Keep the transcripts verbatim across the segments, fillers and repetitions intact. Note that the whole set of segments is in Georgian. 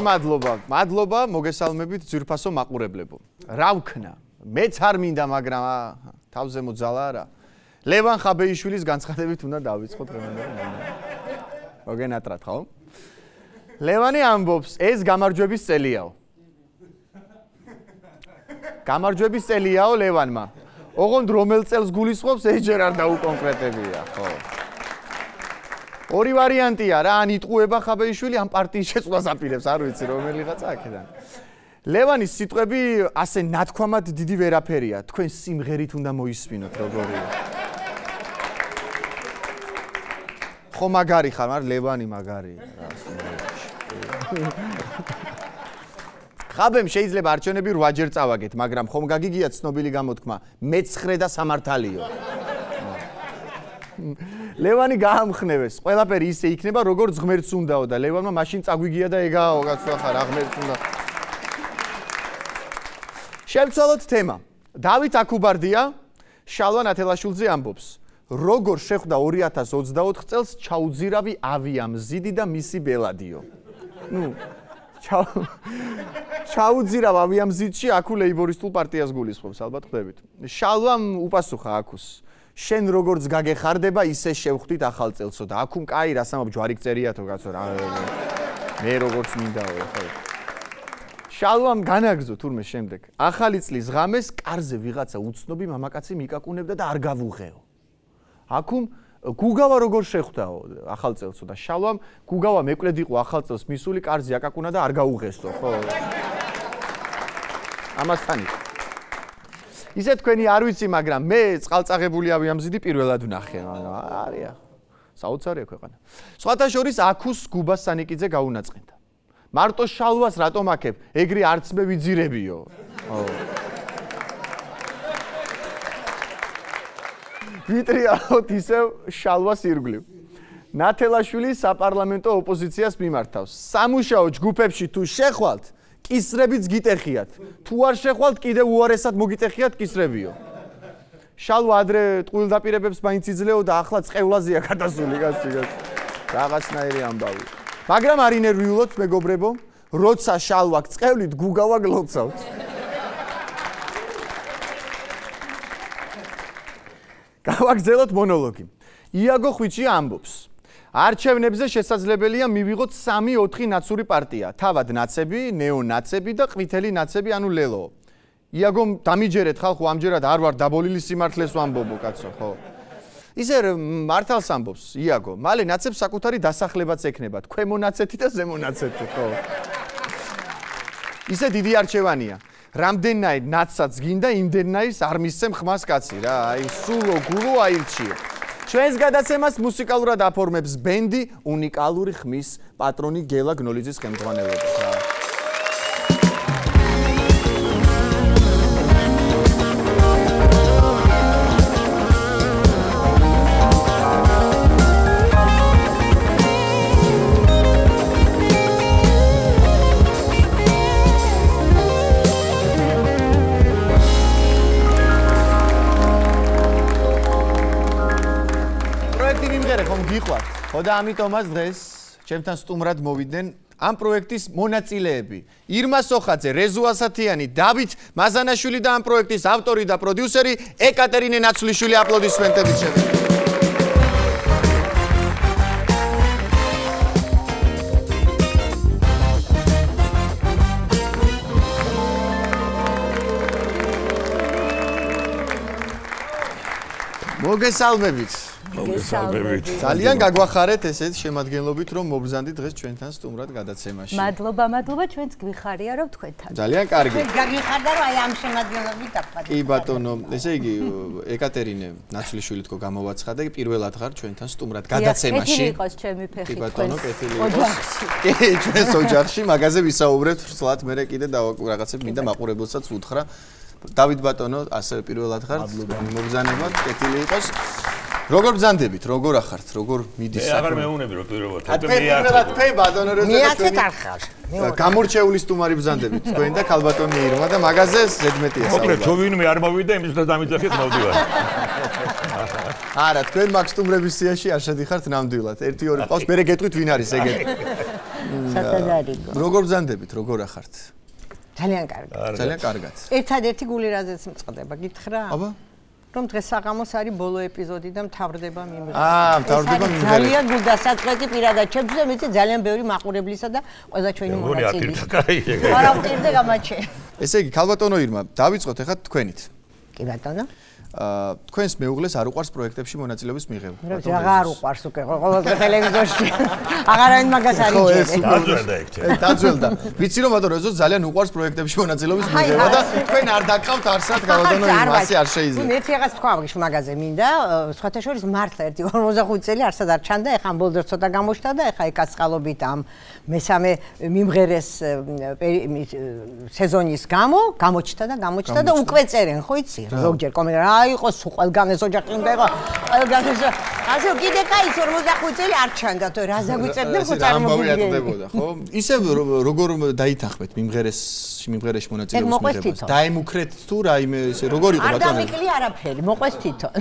მადლობა. მადლობა, მოგესალმებით ძვირფასო მაყურებლებო. რა ვქნა? მეც არ მინდა, მაგრამ თავზე მოძალა არა. ლევან ხაბეიშვილის განცხადებით უნდა დავიწყოთ დღევანდელი. მოგენატრათ, ხო? ლევანი ამბობს, ეს გამარჯვების წელიაო. გამარჯვების წელიაო ლევანმა. ოღონდ რომელ წელს გულისხმობს, ეს ჯერ არ დაუკონკრეტებია, ხო? ორი ვარიანტია რა, ან იტყუება ხაბეიშვილი, ან პარტიის შეცვლას აპირებს, არ ვიცი რომელიღაცა აქედან. ლევანის სიტყვები ასე ნათქვამად დიდი ვერაფერია, თქვენ სიმღერით უნდა მოისმინოთ, როგორია. ხო მაგარი ხარ, მაგრამ ლევანი მაგარია. ხაბემ შეიძლება არჩევნები რვაჯერ წავაგეთ, მაგრამ ხომ გაგიგია ცნობილი გამოთქმა, მეცხრე და სამართალიო. ლევანი გაამხნევეს, ყველაფერი ისე იქნება, როგორც ღმერთს უნდაო და ლევანმა მაშინ წაგვიგია და ეგააო, კაცო ხარ, რა ღმერთს უნდა. შევცვალოთ თემა. დავით აქუბარდია შალვა ნათელაშვილზე ამბობს, როგორ შეხვდა ორი ათას ოცდაოთხ წელს ჩაუძირავი ავიამზიდი და მისი ბელადიო. ნუ ჩაუძირავ ავიამზიდში აქუ ლეიბორისტულ პარტიას გულისხმობს, ალბათ ხვდებით. შალვამ უპასუხა აქუს. შენ როგორც გაგეხარდება, ისე შევხვდით ახალ წელსო და აქუმ კაი რას ამბობ ჯვარი გწერიათო კაცო რა. მე როგორც მინდაო, ხო. შალვამ განაგზო თურმე შემდეგ. ახალი წლის ღამეს კარზე ვიღაცა უცნობი მამაკაცი მიკაკუნებდა და არ გავუღეო. აქუმ გუგავა როგორ შეხვდაო ახალ წელსო და შალვამ გუგავა მეკლედ იყო ახალ წელს მისული კარზე აკაკუნა და არ გაუღესო, ხო? ამასთან იყო. ისე თქვენი არ ვიცი, მაგრამ მე წყალწაღებული ავიამზიდი პირველად ვნახე, არია. საოცარია ქვეყანა. სხვათა შორის აქუს გუბას სანიკიძე გაუნაწყენდა. მარტო შალვას რატომ აქებ? ეგრე არც მე ვიძირებიო. ხო. ვიტრიალოთ ისევ შალვას ირგვლივ. ნათელაშვილი საპარლამენტო ოპოზიციას მიმართავს. სამუშაო ჯგუფებში თუ შეხვალთ, კისრებიც გიტეხიათ. თუ არ შეხვალთ, კიდევ უარესად მოგიტეხიათ კისრებიო. შალვა ადრე ტყუილდაპირებებს მაინც იძლეო და ახლა წყევლაზეა გადასული, კაცი, კაცი. რაღაცნაირი ამბავი. მაგრამ არ ინერვიულოთ, მეგობრებო, როცა შალვა გწყევლით, გუგავა გლოცავთ. გავაგზავნოთ მონოლოგი. იაგო ხვიჩი ამბობს, არჩევნებზე შესაძლებელია მივიღოთ სამი ოთხი ნაცური პარტია, თავად ნაცები, ნეონაცები და ყვითელი ნაცები, ანუ ლელო. იაგომ დამიჯერეთ ხალხო, ამჯერად არ ვარ დაბოლილი სიმართლეს ვამბობო, კაცო, ხო? ისე მართალს ამბობს იაგო, მალე ნაცებს საკუთარი დასახლებაც ექნებათ, ქვემო ნაცეთი და ზემო ნაცეთი, ხო? ისე დიდი არჩევანია. რამდენნაირ ნაცსაც გინდა, იმდენნაირს არ მისცემ ხმას კაცი რა, აი სულო გულო აირჩიო. ჩვენს გადაცემას მუსიკალურად აფორმებს ბენდი უნიკალური ხმის პატრონი გელა გნოლიძის ხელმძღვანელობით რა. ხო და ამიტომაც დღეს ჩემთან სტუმრად მოვიდნენ ამ პროექტის მონაწილეები. ირმა სოხაძე, რეზო ასათიანი, დავით მაზანაშვილი და ამ პროექტის ავტორი და პროდიუსერი ეკატერინე ნაცვლიშვილი. აპლოდისმენტებით შევიდეთ. მოგესალმებით. მოგესალმებით. ძალიან გაგვახარეთ ესეთ შემადგენლობით, რომ მობრძანდით დღეს ჩვენთან სტუმრად გადაცემაში. მადლობა, მადლობა, ჩვენც გვიხარია, რომ თქვენთან. ძალიან კარგი. გაგიხარდა, რომ აი ამ შემადგენლობით დაფხატე. კი ბატონო, ესე იგი ეკატერინე ნაცვლიშვილი თქო გამოვაცხადა, პირველად ხარ ჩვენთან სტუმრად გადაცემაში. კეთილი იყოს ჩემი ფეხი. კი ბატონო, კეთილი იყოს. კი, ჩვენს ოჯახში მაგაზე ვისაუბრებთ, სულად მე კიდე რაღაცები მინდა მაყურებელსაც ვუთხრა. დავით ბატონო, ასევე პირველად ხარ. მობრძანებად, კეთილი იყოს. როგორ ბრძანდებით, როგორ ახართ, როგორ მიდის საქმე? მე აღარ მეუნები რომ პირველად. პირველად თქვენ ბატონო როცა მეათე არხარ. გამორჩეული სტუმარი ბრძანდებით თქვენ და ქალბატონი ირმა და მაგაზე ზედმეტია საუბარი. მოკლედ თუ ვინმე არ მოვიდა, იმის და დამიძახეთ მოვდივარ. არა, თქვენ მაგ სტუმრების სიაში არ შედიხართ ნამდვილად. ერთი ორი ყავს, მერე გეტყვით ვინ არის ეგეთი. სათადარიგო. როგორ ბრძანდებით, როგორ ახართ? ძალიან კარგი. ძალიან კარგად. ერთადერთი გული რაზეც მწყდება, გითხრა? აბა? რომ დღეს საღამოს არის ბოლო ეპიზოდი და მთავრდება მიმღერე. აა, მთავრდება მიმღერე. ძალიან გულდასაწყვეტი პირადად ჩემთვის და მეც ძალიან ბევრი მაყურებლისა და ყველა ჩვენი მონაწილე. არა, ვტირდე გამაჩე. ესე იგი, ქალბატონო ირმა, დავიწყოთ ახლა თქვენით. კი ბატონო. აა, თქვენს მეუღლეს არ უყვარს პროექტებში მონაწილეობის მიღება. რა არ უყვარს უკვე ყოველდღე ტელევიზორში. აღარავინ მაგას არ იჯერე. დაძველდა ეგ. დაძველდა. ვიცი რომ ბატონო ეზო ძალიან უყვარს პროექტებში მონაწილეობის მიღება და თქვენ არ დაგყავთ არსად ქალბატონო ირმა, ასე არ შეიძლება. მე ერთი რაღაც თქვა ვიშ მაგაზე მინდა, სხვათა შორის მართლა ერთი ორმოცდახუთი წელი არსად არ ჩანდა, ეხა ამბოლდერ ცოტა გამოჩნდა და ეხა ეკაცხალობით ამ მესამე მიმღერეს სეზონის გამო გამოჩნდა და გამოჩნდა და უკვე წერენ, ხო იცი? ზოგჯერ კომენტარი აი იყოს ყველგან ეს ოჯახი უნდა იყო ყველგან ეს ასე კიდე კაი ორმოცდახუთი წელი არ ჩანდა თუ რა ზაგვიწერდა ხო წარმოგიდგენია ხო ისე როგორ დაითანხმეთ მიმღერეს მიმღერეში მონაწილეობის მიღებას დაემუქრეთ თუ რაიმე ესე როგორ იყო ბატონო არ დამიკლი არაფერი მოყვეს თვითონ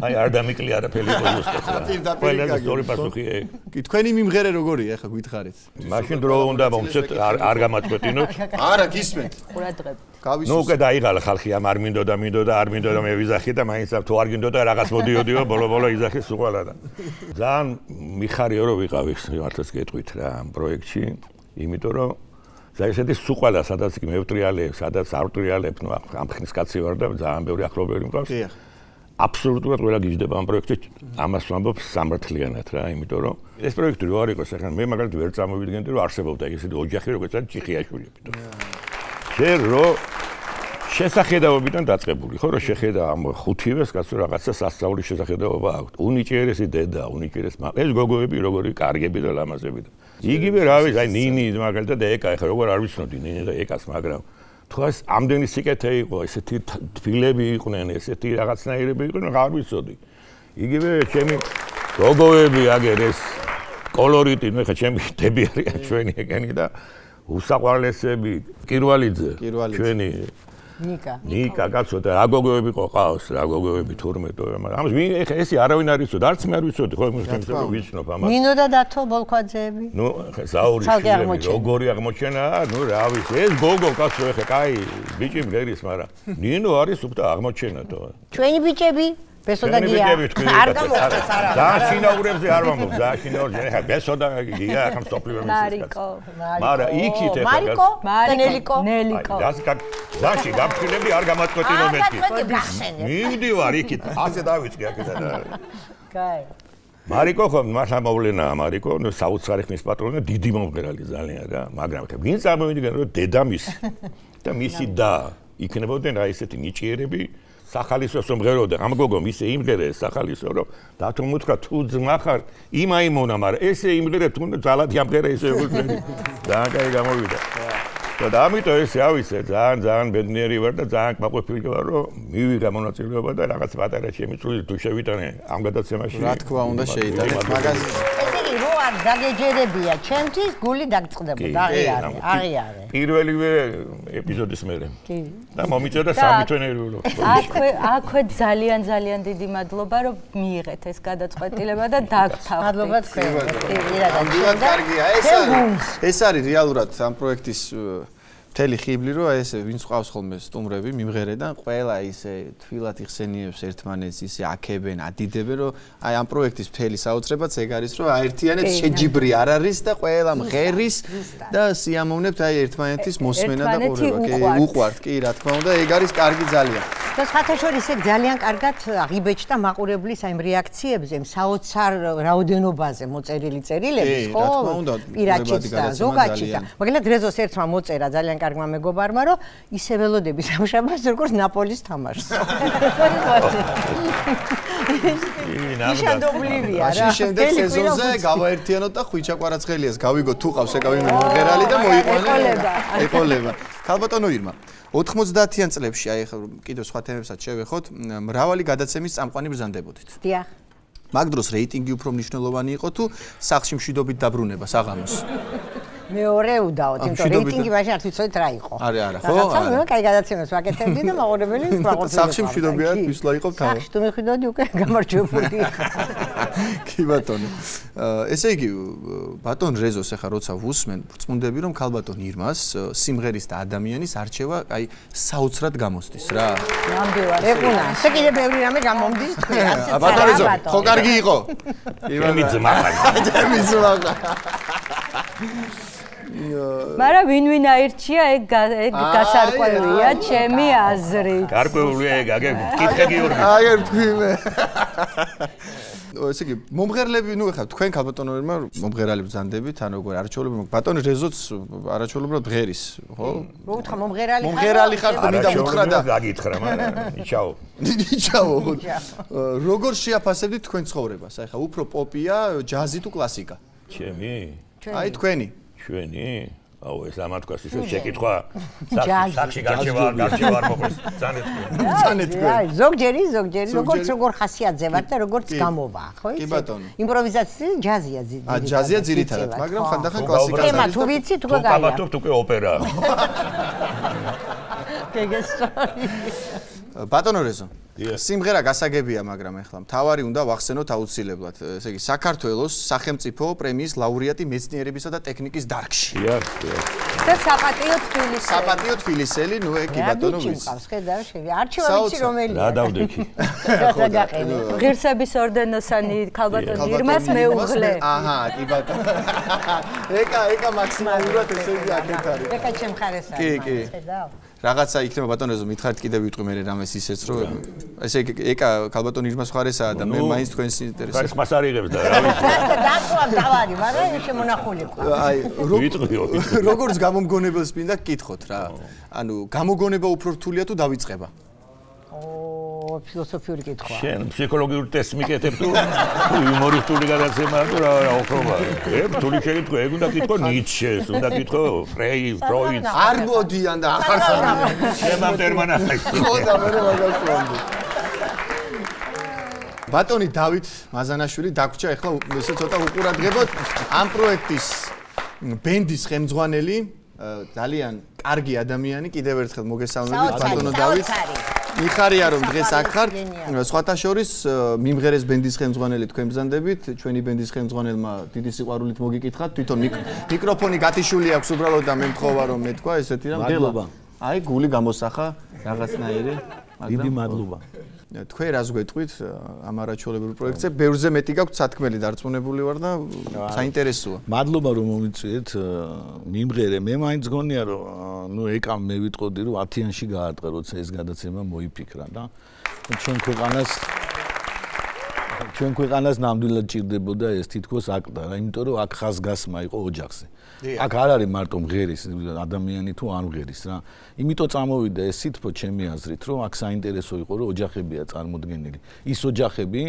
აი არ დამიკლი არაფერი იყო ზუსტად ყველა სწორი პასუხია კი თქვენი მიმღერე როგორია ახლა გითხარით მაშინ დრო უნდა მომცეთ არ გამაწყვეტინოთ არა გისმენთ ყურადღებით ნუ უკვე დაიღალა ხალხი ამ არ მინდოდა მინდოდა არ მინდოდა მე ვიზახი და მაინც თუ არ გინდოდა რაღაც მოდიოდიო ბოლო-ბოლო იზახი სუყალა და ძალიან მიხარიო რომ ვიყავი მართლაც გეტყვით რა ამ პროექტში იმიტომ რომ ზაისეთი სუყალა სადაც კი მევტრიალე სადაც არ ვტრიალებ ნუ ამ ხნის კაცი ვარ და ძალიან ბევრი ახლობელი მყავს აბსოლუტურად ყველა გიждდება ამ პროექტში ამას ვამბობ სამართლიანად რა იმიტომ რომ ეს პროექტი რო არ იყოს ახლა მე მაგალითად ვერ წამოვიდგენდი რომ არსებობდა ესეთი ოჯახი როგორც არის ჭიხიაშვილი შენ რო შესახედაობიდან დაწყებული ხო რომ შეხედა ამ ხუთივეს კაცო რაღაცა სასწაულის შესახედაობა აქვს უნიჭიერესი დედა უნიჭიერეს მამა ეს გოგოები როგორი კარგები და ლამაზები და იგივე რა ვიცი აი ნინი მაგალითად ეკა ახლა როგორ არ ვიცნობდი ნინი და ეკას მაგრამ თუ ეს ამდენი სიკეთე იყო ესეთი თბილები იყვნენ ესეთი რაღაცნაირები იყვნენ არ ვიცოდი იგივე ჩემი გოგოები აგერ ეს კოლორიტი ნუ ხა ჩემი დები არის ჩვენი ეგენი და უსაყვარლესები კირვალიძე ჩვენი ნიკა ნიკა კაცო და რა გოგოები ყავს რა გოგოები თორმეტ მაგრამ ამას ვინ ეხა ესე არავინ არ იცოდა არც მე არ ვიცოდი ხო იმის თემს ვიცნობ ამას ნინო და დათო ბოლქვაძეები ნუ ზაური შილები როგორი აღმოჩენა ნუ რა ვიცი ეს გოგო კაცო ეხა კაი ბიჭი მღერის მაგრამ ნინო არის უფრო აღმოჩენა თო ჩვენი ბიჭები ბესო და გია არ გამოხდეს არა და შინაურებზე არ ვამბობ და შინაურზე ეხა ბესო და გია ახლა სოფლიო მისის მარიკო მარა იქით ეხა მარიკო ნელიკო ნელიკო ზაში გაფრთხილები არ გამაწყვეტინო მეთქი მივდივარ იქით ასე დავიწყე აქედა და კაი მარიკო ხო მართლა მოვლენაა მარიკო ნუ საოცარი ხნის პატრონი დიდი მომღერალი ძალიან რა მაგრამ ვინ წარმოვიდგენ რომ დედამისი და მისი და იქნებოდნენ რა ესეთი ნიჭიერები სახალისო მომღეროდა ამ გოგომ ისე იმღერეს სახალისო რომ დათო მუთქა თუ ძმა ხარ იმაიმონა მაგრამ ესე იმღერე თუ ძალად იმღერე ესე უძლები ძალიან კაი გამოვიდა და ამიტომ ესე ავიცე ძალიან ძალიან ბედნიერი ვარ და ძალიან კმაყოფილი ვარ რომ მივიღა მონაწილეობა და რაღაც პატარა შემიწვილი თუ შევიტანე ამ გადაცემაში რა თქმა უნდა შეიტანეთ მაგას ესე რო არ დაგეჯერებია ჩემთვის გული დაგწყდებოდა აღიარე აღიარე პირველივე ეპიზოდის მერე კი და მომიწოდა სამი თვე ნერვიულო აქვე აქვე ძალიან ძალიან დიდი მადლობა რომ მიიღეთ ეს გადაწყვეტილება და დაგთავთ მადლობა თქვენ ამდენად კარგია ეს არის ეს არის რეალურად ამ პროექტის მთელი ხიბლი რომ აი ესე ვინც ყავს ხოლმე სტუმრები მიმღერედან ყველა ისე თვილად იხსენიებს ერთმანეთს ისე აქებენ ადიდებენ რომ აი ამ პროექტის მთელი საოცრებაც ეგ არის რომ აერთიანეთ შეჯიბრი არ არის და ყველა მღერის და სიამოვნებთ აი ერთმანეთის მოსმენა და ყურება კი უყვართ კი რა თქმა უნდა ეგ არის კარგი ძალიან და სხვათა შორის ეგ ძალიან კარგად აღიბეჭდა მაყურებლის აი რეაქციებზე საოცარ რაოდენობაზე მოწერილი წერილების ხო პირაჩიც და ზოგაჩიც და მაგალითად რეზოს ერთმა მოწერა ძალიან კარგმა მეგობარმა რომ ისე ველოდები სამშაბათს როგორც ნაპოლის თამაშს. ნიშანდობლივია რა. მაშინ შემდეგ სეზონზე გავაერთიანოთ და ხვიჩა კვარაცხელიას გავიგოთ თუ ყავს ეკავი მომღერალი და მოიყვანა. ეყოლება. ქალბატონო ირმა ოთხმოცდაათიან წლებში აი ახლა კიდევ სხვა თემებსაც შევეხოთ მრავალი გადაცემის წამყვანი ბრძანდებოდით. დიახ. მაგ დროს რეიტინგი უფრო მნიშვნელოვანი იყო თუ სახლში მშვიდობით დაბრუნება საღამოს. მეორე უდაოდ, იმიტომ რეიტინგი მაშინ არ ვიცოდით რა იყო. არა, არა, ხო? რაღაცა მე კაი გადაცემას ვაკეთებდი და მაყურებელი მაყურებელი. სახში მშვიდობია, ვისლა იყო თავი. სახში თუ მიხვიდოდი უკვე გამარჯვებული. კი ბატონო. ესე იგი ბატონ რეზოს ახლა როცა ვუსმენ, ვრწმუნდები რომ ქალბატონ ირმას სიმღერის და ადამიანის არჩევა აი საოცრად გამოსდის რა. ნამდვილად. ეგუნა, ესე კიდე ბევრი რამე გამომდის თქვენ. ბატონ რეზო, ხო კარგი იყო? იმენი ძმაყარი. ჩემი ძმაყა. მაგრამ ვინ ვინ აირჩია ეგ ეგ გასარკვევია ჩემი აზრით. გარკვეულია ეგ, აგერ კითხე გიორგი. აგერ თქვი მე. ესე იგი მომღერლები, ნუ ეხლა თქვენ ქალბატონებმა მომღერალი ბრძანდებით, ან როგორ არჩეულები ბატონი რეზოც არაჩვეულებრივად ღერის, ხო? მოუთხა მომღერალი ხარ? მომღერალი ხარ, მინდა უთხრა და გაგითხრა, მაგრამ ნიჩაო. ნიჩაო. როგორ შეაფასებდით თქვენ ცხოვრებას? აი ხა უფრო პოპია, ჯაზი თუ კლასიკა? ჩემი? აი თქვენი. ჩვენი? აუ ეს ამათქვას ისე შეკითხვა. სახში გარჩევა, გარჩევა მოყვის. ძანეთ. ძანეთ. აი ზოგჯერი, ზოგჯერი, როგორც როგორ ხასიათზე ვარ და როგორც გამოვა, ხო იცი? კი ბატონო. იმპროვიზაცია ჯაზია ძირითადად. ა ჯაზია ძირითადად, მაგრამ ხანდახან კლასიკას არის. თემა თუ ვიცი თუ გაია. კაბათობთ უკვე ოპერა. გეგესწორი. ბატონო რეზო. სიმღერა გასაგებია, მაგრამ ეხლა მთავარი უნდა ვახსენოთ აუცილებლად. ესე იგი საქართველოს სახელმწიფო პრემიის ლაურეატი მეცნიერებისა და ტექნიკის დარგში. დიახ, დიახ. და საპატიო თბილისელი. საპატიო თბილისელი, ნუ ეკი ბატონო ვიცი. ხედავ, შევი. არჩევა ვიცი რომელია. რა დავდექი. ღირსების ორდენოსანი ქალბატონ ირმას მეუღლე. აჰა, კი ბატონო. ეკა, ეკა მაქსიმალურად ესე იგი აქეთ არის. ეკა ჩემ ხარეს არის. კი, კი. ხედავ. რაღაცა იქნება ბატონო, მითხარით კიდევ ვიტყვი მე რამეს ისეც რომ ესე ეკა ქალბატონ ირმას ხარესაა და მე მაინც თქვენს ინტერესს. ხარეს მას არ იღებს და რა ვიცი. დაკვა დავარი, მაგრამ ეს შემონახული ყო. აი, ვიტყვიო. როგორც გამომგონებელს მინდა გკითხოთ რა. ანუ გამოგონება უფრო რთულია თუ დავიწყება? ო, ფილოსოფიური კითხვა. შენ ფსიქოლოგიური ტესტს მიკეთებ თუ იუმორისტული გადაცემა თუ რა რა ოქრობა. ე, რთული შეკითხვა, ეგ უნდა კითხო ნიცშეს, უნდა კითხო ფრეიდს, ფროიდს. არ მოდიან და ახარ სამი. შემამ ტერმანახეს. ხო და მე მაგას ვამბობ. ბატონი დავით მაზანაშვილი დაგვრჩა ახლა ესე ცოტა უყურადღებოთ ამ პროექტის ბენდის ხელმძღვანელი ძალიან კარგი ადამიანი კიდევ ერთხელ მოგესალმებით ბატონო დავით მიხარია რომ დღეს აქ ხართ სხვათა შორის მიმღერეს ბენდის ხელმძღვანელი თქვენ ბრძანდებით ჩვენი ბენდის ხელმძღვანელმა დიდი სიყვარულით მოგიკითხათ თვითონ მიკროფონი გათიშული აქვს უბრალოდ და მე მთხოვა რომ მეთქვა ესეთი რამ მადლობა აი გული გამოსახა რაღაცნაირი დიდი მადლობა თქვენ რას გვეტყვით ამ არაჩვეულებრივ პროექტზე ბევრზე მეტი გაქვთ სათქმელი დარწმუნებული ვარ და საინტერესოა მადლობა რომ მომიწვიეთ მიმღერე მე მაინც გონია რომ ნუ ეკამ მე ვიტყოდი რომ ათიანში გაარტყა როცა ეს გადაცემა მოიფიქრა და ჩვენ ქვეყანას ჩვენ ქვეყანას ნამდვილად ჭირდებოდა ეს თითქოს აქტა რა იმიტომ რომ აქ ხაზგასმა იყო ოჯახზე აქ არ არის მარტო მღერის ადამიანი თუ არ მღერის რა იმიტომ წამოვიდა ეს სითბო ჩემი აზრით რომ აქ საინტერესო იყო რომ ოჯახებია წარმოდგენილი ის ოჯახები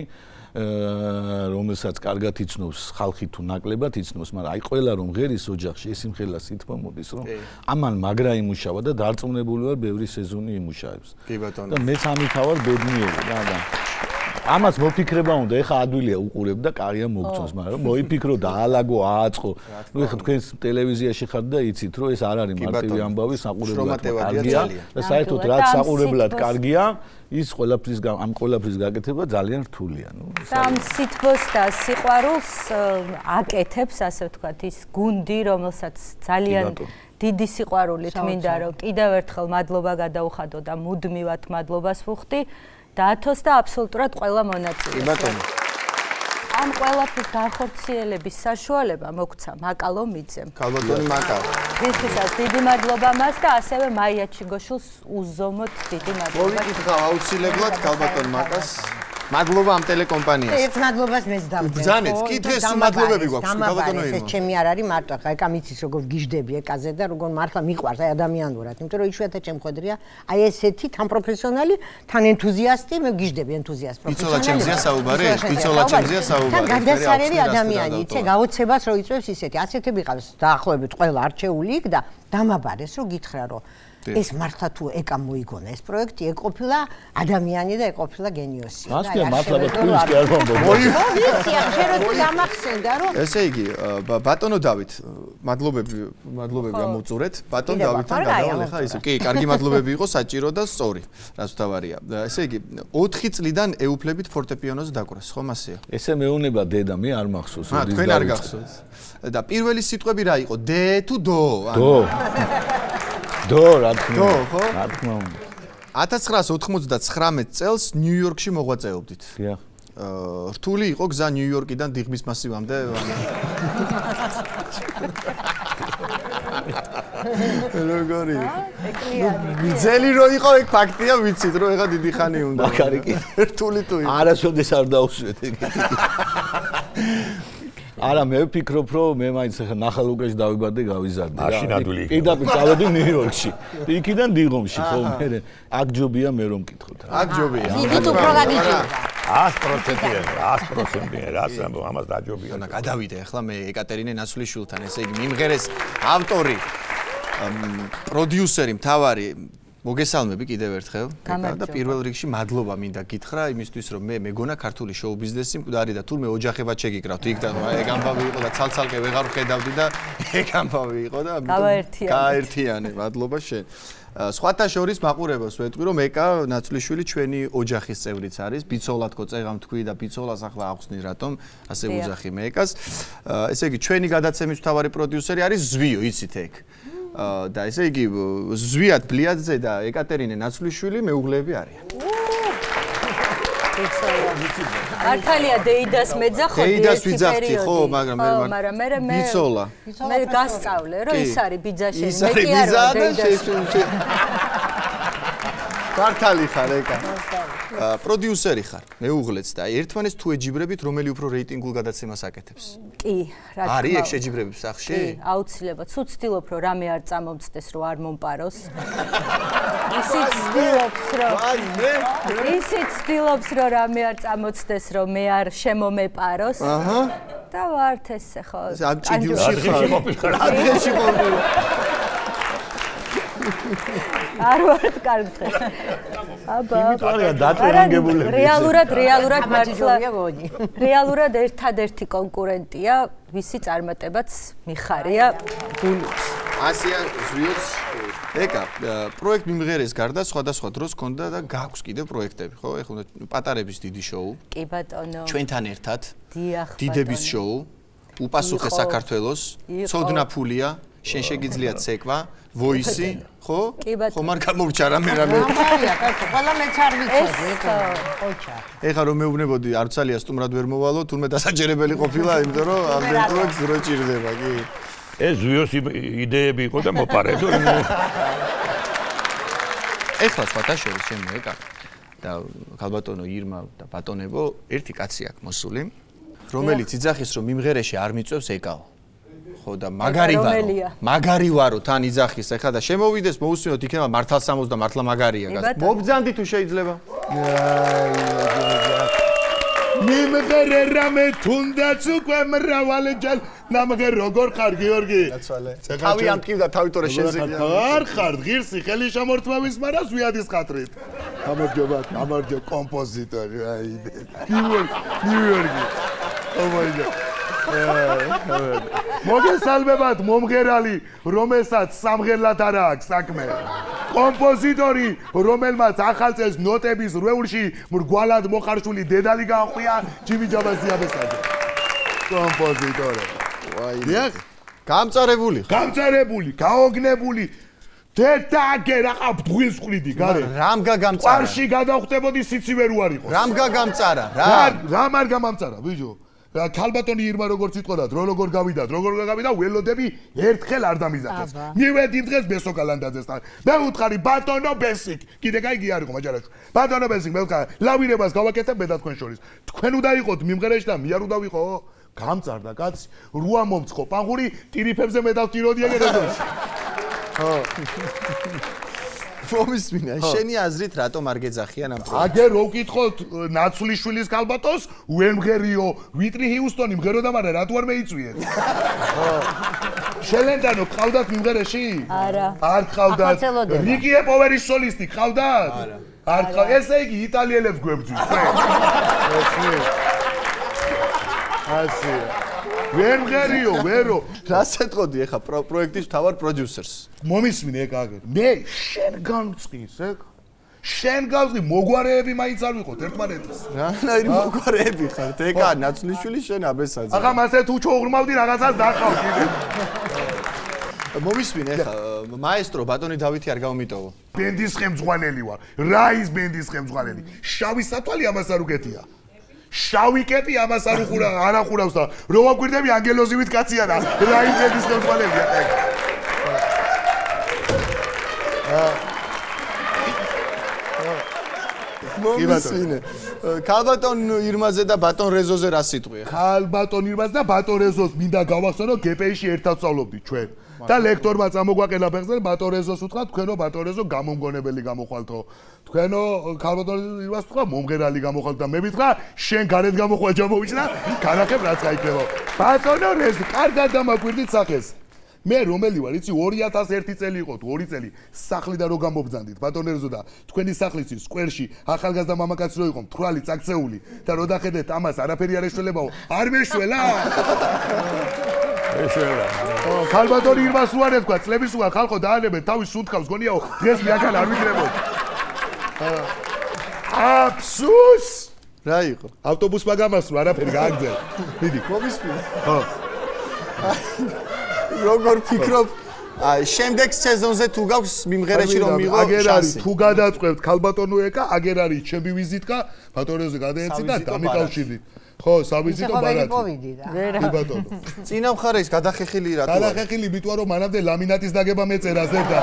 რომელსაც კარგად იცნობს ხალხი თუ ნაკლებად იცნობს მაგრამ აი ყველა რომ მღერის ოჯახში ეს იმხელა სითბო მოდის რომ ამან მაგრა იმუშავა და დარწმუნებული ვარ ბევრი სეზონი იმუშავებს კი ბატონო და მეც ამითავარ ბედნიერი რა და ამას მოფიქრება უნდა ეხა ადვილია უყურებ და კარია მოგწონს მაგრამ მოიფიქრო და აალაგო ააწყო ნუ ეხა თქვენ ტელევიზიაში ხართ და იცით რომ ეს არ არის მარტივი ამბავი საყურებლად კარგია და საერთოდ რაც საყურებლად კარგია ის ყველაფრის ამ ყველაფრის გაკეთება ძალიან რთულია ნუ ამ სითბოს და სიყვარულს აკეთებს ასე ვთქვათ ის გუნდი რომელსაც ძალიან დიდი სიყვარულით მინდა რომ კიდევ ერთხელ მადლობა გადაუხადო და მუდმივად მადლობას ვუხდი დაათოს და აბსოლუტურად ყველა მონაწილეს. კი ბატონო. ამ ყველაფრის განხორციელების საშუალება მოგცა მაკალო მიძემ. ქალბატონი მაკალო. ვისთვისაც დიდი მადლობა მას და ასევე მაია ჩიგოშვილს უზომოდ დიდი მადლობა. მოვიკითხავ აუცილებლად ქალბატონ მაკას. მადლობა ამ ტელეკომპანიას. ერთ მადლობას მეც დავწერე. ბრძანეთ, კიდეს მადლობები გვაქვს ქალბატონო ირმა. ეს ჩემი არ არის მარტო, ხა ეკა მიცის როგორ გიждები ეკაზე და როგორ მართლა მიყვარს აი ადამიანურად, იმიტომ რომ იშვიათად შემხედრია აი ესეთი თან პროფესიონალი, თან ენთუზიასტი, მე გიждები ენთუზიასტ პროფესიონალი. პიცოლა ჩემზეა საუბარი, პიცოლა ჩემზეა საუბარი. გადასარევი ადამიანი, იცი, გაოცებას რო იწვევს ისეთი, ასეთები ყავს დაახლოებით ყველა არჩეული იქ და დამაბარეს რო გითხრა რომ ეს მართლა თუ ეკამ მოიგონა ეს პროექტი ეკ-ყოფილა ადამიანი და ეკ-ყოფილა გენიოსი. ასკია მართლა თქვენს კი არ მომბობ. ვიცი, ახლა რომ გამახსენდა რომ ესე იგი ბატონო დავით მადლობები, მადლობები ამოწურეთ. ბატონ დავითთან გადავალ ხა ისე. კი, კარგი მადლობები იყო, საჭირო და სწორი, რაც თავარია. ესე იგი, ოთხი წლიდან ეუფლებით ფორტეპიანოზე დაკვრას, ხომ ასეა? ესე მეუნება დედა, მე არ მახსოვს. აა, თქვენ არ გახსოვთ. და პირველი სიტყვები რა იყო? დე თუ დო? დო. დო, რა თქმა უნდა. დო, ხო? რა თქმა უნდა. ათას ცხრაას ოთხმოცდათხრამეტ წელს ნიუ-იორკში მოღვაწეობდით. დიახ. აა, რთული იყო გზა ნიუ-იორკიდან დიღმის მასივამდე. როგორი? ძელი რო იყო ეგ ფაქტია, ვიცით რომ ეხა დიდი ხანი უნდა. მაგარი კი. რთული თუ იყო. არასოდეს არ დაუსვეთ ეგეთი. არა მე ვფიქრობ რომ მე მაინც ახლა ნახალუკაში დავიბადე გავიზარდე რა. მაშინ ადვილი იქნება. პირდაპირ წავედი ნიუ-იორკში. იქიდან დიღომში ხო მე აქ ჯობია მე რომ მკითხოთ რა. აქ ჯობია. ვიდით უფრო გაგიჭირდა. ას პროცენტია, ას პროცენტია, რას ამბობ, ამას დაჯობია. და გადავიდე ახლა მე ეკატერინე ნაცვლიშვილთან, ესე იგი მიმღერეს ავტორი, პროდიუსერი, მთავარი მოგესალმები კიდევ ერთხელ და პირველ რიგში მადლობა მინდა გითხრა იმისთვის რომ მე მეგონა ქართული შოუ ბიზნესი მკვდარი და თურმე ოჯახებად შეგიკრავთ იქ და ეგ ამბავი იყო და ცალცალკე ვეღარ ხედავდი და ეგ ამბავი იყო და გაერთიანე მადლობა შენ სხვათა შორის მაყურებელს ვეთქვი რომ ეკა ნაცვლიშვილი ჩვენი ოჯახის წევრიც არის ბიცოლათკო წეღამ თქვი და ბიცოლას ახლა ახსნი რატომ ასე უძახი მე ეკას ესე იგი ჩვენი გადაცემის მთავარი პროდიუსერი არის ზვიო იცით ეგ და ესე იგი ზვიად ბლიაძე და ეკატერინე ნაცვლიშვილი მეუღლეები არიან. მართალია დეიდას მეძახოდი დეიდას ვიძახთი ხო მაგრამ მე მაგრამ მე მე ბიცოლა მე გასწავლე რომ ის არის ბიძაშენი მე კი არ ვარ დეიდას მართალი ხარ ეკა პროდიუსერი ხარ მეუღლეც და ერთმანეს თუ ეჯიბრებით რომელი უფრო რეიტინგულ გადაცემას აკეთებს კი რა თქმა უნდა არის ეგ შეჯიბრების სახში კი აუცილებლად თუ ცდილობ რომ რამე არ წამომწდეს რომ არ მომპაროს ისიც ცდილობს რომ აი მე ისიც ცდილობს რომ რამე არ წამოწდეს რომ მე არ შემომეპაროს აჰა და ვართ ესე ხო ამ ჭიდიუში ხარ ადგილში ყოფილი არ ვართ კარგად. აბა. იმიტომია დატრენინგებულები. რეალურად, რეალურად მართლა რეალურად ერთადერთი კონკურენტია, ვისი წარმატებაც მიხარია გულით. ასია ზვიოც ეკა პროექტ მიმღერეს გარდა სხვადასხვა დროს ქონდა და გაქვს კიდევ პროექტები, ხო? ეხლა პატარების დიდი შოუ. კი ბატონო. ჩვენთან ერთად. დიახ ბატონო. დიდების შოუ. უპასუხე საქართველოს. ცოდნა ფულია. შენ შეგიძლია ცეკვა, ვოისი, ხო? ხო მარ გამოვჭა რამე რამე. ამარია, კაცო, ყველა მეც არ ვიცოდი, ეკა, ოჩა. ეხა რომ მეუბნებოდი არცალია სტუმრად ვერ მოვალო, თურმე დასაჯერებელი ყოფილა, იმიტომ რომ ამდენ პროექტს რო ჭირდება, კი. ეს ზვიოს იდეები იყო და მოპარებო. ეხლა სხვათა შორის ჩემი ეკა და ქალბატონო ირმა და ბატონებო, ერთი კაცი აქვს მოსული, რომელიც იძახის რომ მიმღერეში არ მიწევს ეკაო. ხო და მაგარი ვარო მაგარი ვარო თან იძახის ახლა და შემოვიდეს მოусმინოთ იქნება მართალსამოს და მართლა მაგარია გას მობძანდი თუ შეიძლება მიმღერე რამე თუნდაც უკვე მრავალჯერ ნამღე როგორ ხარ გიორგი თავი ამტკივდა თავიტორე შენზე არ ხარ ღირსი ხელი შემორთმევის მარას ვიადის ხატრით გამარჯობა გამარჯობა კომპოზიტორი აი ნიუ-იორკი ომაიდა მოგესალმებათ მომღერალი რომელსაც სამღერლად არ აქვს საქმე კომპოზიტორი რომელმაც ახალ წელს ნოტების რვეულში მრგვალად მოხარშული დედალი გაახვია ჯიმი ჯაბასიაბესაძე კომპოზიტორი ვაი გამწარებული გამწარებული გაოგნებული დედაგე რაყა ბღვინს ხვლიდი გარე რამ გაგამწარა ყარში გადავხდებოდი სიცივე რო არ იყოს რამ გაგამწარა რა რამ არ გამამწარა ბიჭო ქალბატონი ირმა როგორც იტყოდა დრო როგორ გავიდათ როგორ გავიდა ველოდები ერთხელ არ დამიზახეს მივედი დღეს ბესო კალანდაძესთან მე უთხარი ბატონო ბესიკ კიდე кайგი არ იყო მაჯარაში ბატონო ბესიკ მე ვთქვა ლავირებას გავაკეთებ მე და თქვენ შორის თქვენ უნდა იყოთ მიმღერეში და მე არ უნდა ვიყო გამწარდა კაცი რუა მომწყო პანღური ტირიფებზე მე დავტიროდი ეგ რეზონში ხო მომისმინა შენი აზრით რატომ არ გეძახიან ამ პროექტს აგერ რო ვკითხოთ ნაცვლიშვილის ქალბატონს უემღერიო ვიტრი ჰიუსტონი მღეროდა მაგრამ რატო არ მეიწვიეთ ხო შელენდანო ყავდათ მიმღერეში არა არ ყავდათ რიკი ეპოვერის სოლისტი ყავდათ არა არ ყავ ესე იგი იტალიელებს გვებძვის ხო ასე ვერ მღერიო, ვერო. რას ეთყოდი ეხა პროექტის მთავარ პროდიუსერს? მომისმინე ეგ აგერ. მე შენ გამწყის ეგ. შენ გავწი მოგვარეები მაინც არ ვიყოთ ერთმანეთის. რანაირი მოგვარეები ხართ? ეკა ნაცვლიშვილი შენ აბესაძე. ახლა მასე თუ ჩოღრმავდი რაღაცას დახავ კიდე. მომისმინე ხა მაესტრო ბატონი დავითი არ გამომიტოვო. ბენდის ხემძღვანელი ვარ. რა ის ბენდის ხემძღვანელი? შავი სათვალე ამას არ უკეთია. შავი კეპი ამას არ უყურა, არ ახურავს და რო ვაკვირდები ანგელოზივით კაცია და რა ის ბენდის ხემძღვანელია. მომისმინე. ქალბატონ ირმაზე და ბატონ რეზოზე რა სიტყვია? ქალბატონ ირმაზე და ბატონ რეზოს მინდა გავახსენო გპ-ში ერთად სწავლობდით ჩვენ. და ლექტორმა წამოგვაყენა ფეხზე ბატონ რეზოს უთხრა თქვენო ბატონ რეზო გამომგონებელი გამოხვალთო. თქვენო ქალბატონ ირმას უთხრა მომღერალი გამოხვალთ და მე მითხრა შენ გარეთ გამოხვალ ჯამოვიჩნა განახებ რაც გაიქნებო. ბატონო რეზო კარგად დამაკვირდით სახეს. მე რომელი ვარ, იცი ორი ათას ერთი წელი იყო თუ ორი წელი სახლიდან რო გამობძანდით ბატონ რეზო და თქვენი სახლის სკვერში ახალგაზრდა მამაკაცი რო იყო მთვრალი წაქცეული და რო დახედეთ ამას არაფერი არ ეშველებაო არ მეშველა ეშველა ქალბატონ ირმას რო არ ეთქვა წლების უარ ხალხო დაანებეთ თავის სუნთქავს გონიაო დღეს მე აქ არ ვიქნებოდ აფსუს რა იყო ავტობუსმა გამასრო არაფერი გააგზავნე მიდი მომისმინე ხო როგორ ფიქრობ შემდეგ სეზონზე თუ გაქვს მიმღერაში რომ მიიღო აგერ არის თუ გადაწყვეტ ქალბატონო ეკა აგერ არის ჩემი ვიზიტკა ბატონოზე გადაეცი და დამიკავშირდით ხო სავიზიტო ბარათი ვერა ბატონო წინა მხარე ის გადახეხილი რატო გადახეხილი მითქვა რომ მანამდე ლამინატის დაგება მეწერა ზედა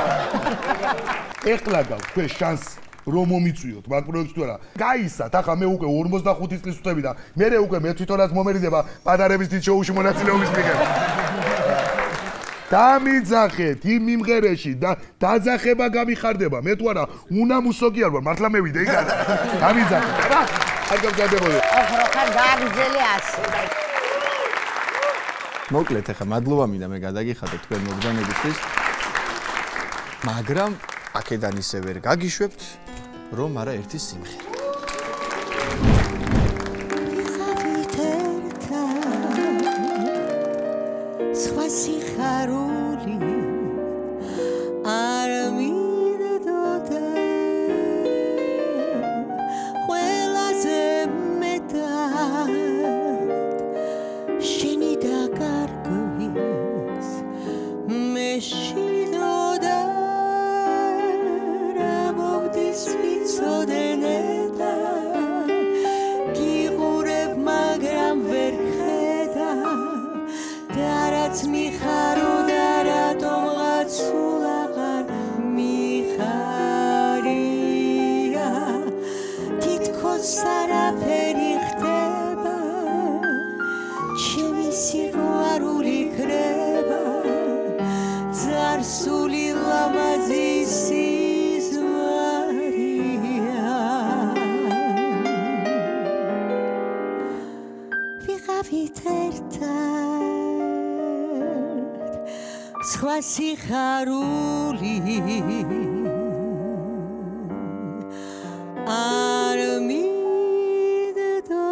ეხლა გაქვს თქვენ შანსი რომ მომიწვიოთ მაგ პროექტს თუ არა გაისათ ახლა მე უკვე ორმოცდახუთი წლის ვწევი და მე უკვე მე თვითონაც მომერიდება პატარების დიდ შოუში მონაწილეობის მიღება დამიძახეთ იმ მიმღერეში და დაძახება გამიხარდება მე თუ არა უნამუსო კი არ ვარ მართლა მე ვიდე იქ დამიძახეთ რა არ გამზადებოდი ახლა გააგზელი ასე მოკლედ ახლა მადლობა მინდა მე გადაგიხადოთ თქვენ მოგზაურობისთვის მაგრამ აქედან ისე ვერ გაგიშვებთ რომ არა ერთი სიმღერა სხვა სიხარული არ მინდოდა ყველაზე მეტად შენი დაკარგვის მე შინოდა რა მოგდის ვიცოდენე და გიყურებ მაგრამ ვერ რაც მიხარო და რატომღაც სულ აღარ მიხარია თითქოს არაფერი ხდება ჩემი სიყვარული ქრება ძარსული ლამაზი სიზმარია ვიყავით ერთად სხვა სიხარული არ მინდოდა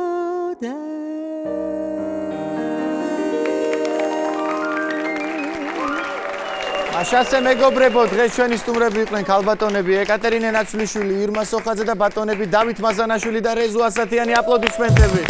აშასე მეგობრებო დღეს ჩვენი სტუმრები იყვნენ ქალბატონები ეკატერინე ნაცვლიშვილი ირმა სოხაძე და ბატონები დავით მაზანაშვილი და რეზო ასათიანი აპლოდისმენტები